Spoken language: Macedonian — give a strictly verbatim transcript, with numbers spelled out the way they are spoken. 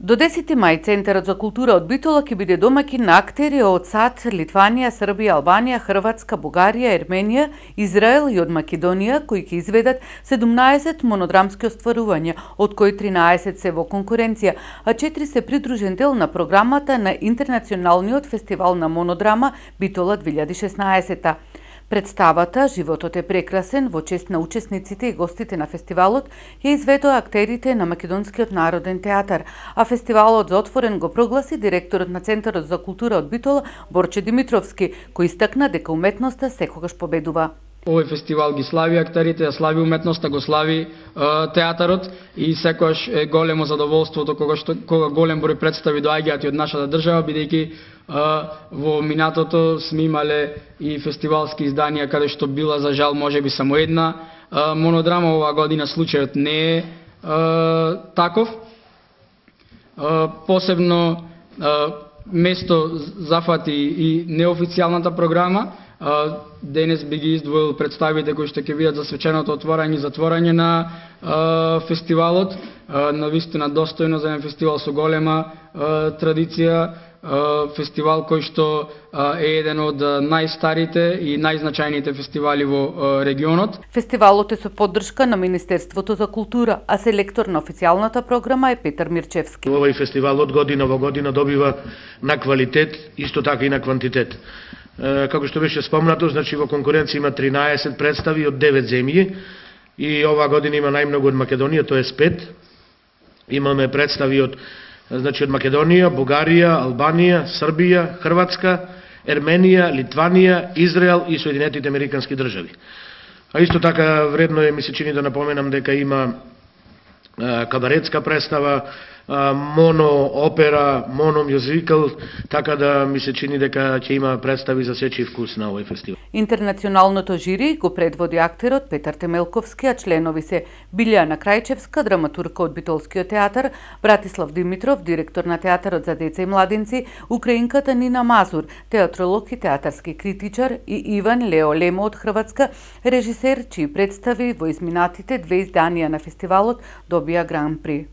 До десети мај Центарот за култура од Битола ќе биде домаќин на актери од САД, Литванија, Србија, Албанија, Хрватска, Бугарија, Ерменија, Израел и од Македонија, кои ќе изведат седумнаесет монодрамски остварувања, од кои тринаесет се во конкуренција, а четири се придружен дел на програмата на Интернационалниот фестивал на монодрама Битола две илјади и шеснаесета. Представата "Животот е прекрасен" во чест на учесниците и гостите на фестивалот ја изведоа актерите на Македонскиот народен театар, а фестивалот за отворен го прогласи директорот на Центарот за култура од Битола Борче Димитровски, кој истакна дека уметноста секогаш победува. Овој фестивал ги слави актерите, ја слави уметноста, го слави е, театарот и секогаш е големо задоволството кога што кога голем број представи доаѓаат и од нашата држава, бидејќи во минатото сме имале и фестивалски изданија каде што била за жал можеби само една е, монодрама. Оваа година случајот не е, е таков. Е, посебно е, место зафати и неофицијалната програма. Денес би ги издвоил представите кои што ќе видат за свеченото отворање и затворање на е, фестивалот. Е, навистина достојно за еден фестивал со голема е, традиција, е, фестивал кој што е еден од најстарите и најзначајните фестивали во е, регионот. Фестивалот е со поддршка на Министерството за култура, а селектор на официјалната програма е Петар Мирчевски. Овој фестивал од година во година добива на квалитет, исто така и на квантитет. Како што беше спомнато, значи во конкуренција има тринаесет представи од девет земји и оваа година има најмногу од Македонија, тоа е пет. Имаме представи од значи од Македонија, Бугарија, Албанија, Србија, Хрватска, Ерменија, Литванија, Израел и Соединетите Американски држави. А исто така вредно е, ми се чини да напоменам дека има кабаретска представа, моно опера, моно мюзикал, така да ми се чини дека ќе има представи за сечи вкус на овој фестивал. Интернационалното жири го предводи актерот Петар Темелковски, а членови се Билјана Крајчевска, драматурка од Битолскиот театар, Братислав Димитров, директор на театарот за деца и младинци, украинката Нина Мазур, театролог и театарски критичар, и Иван Лео Лемо од Хрватска, режисер чии представи во изминатите две изданија на фестивалот добија Гран При.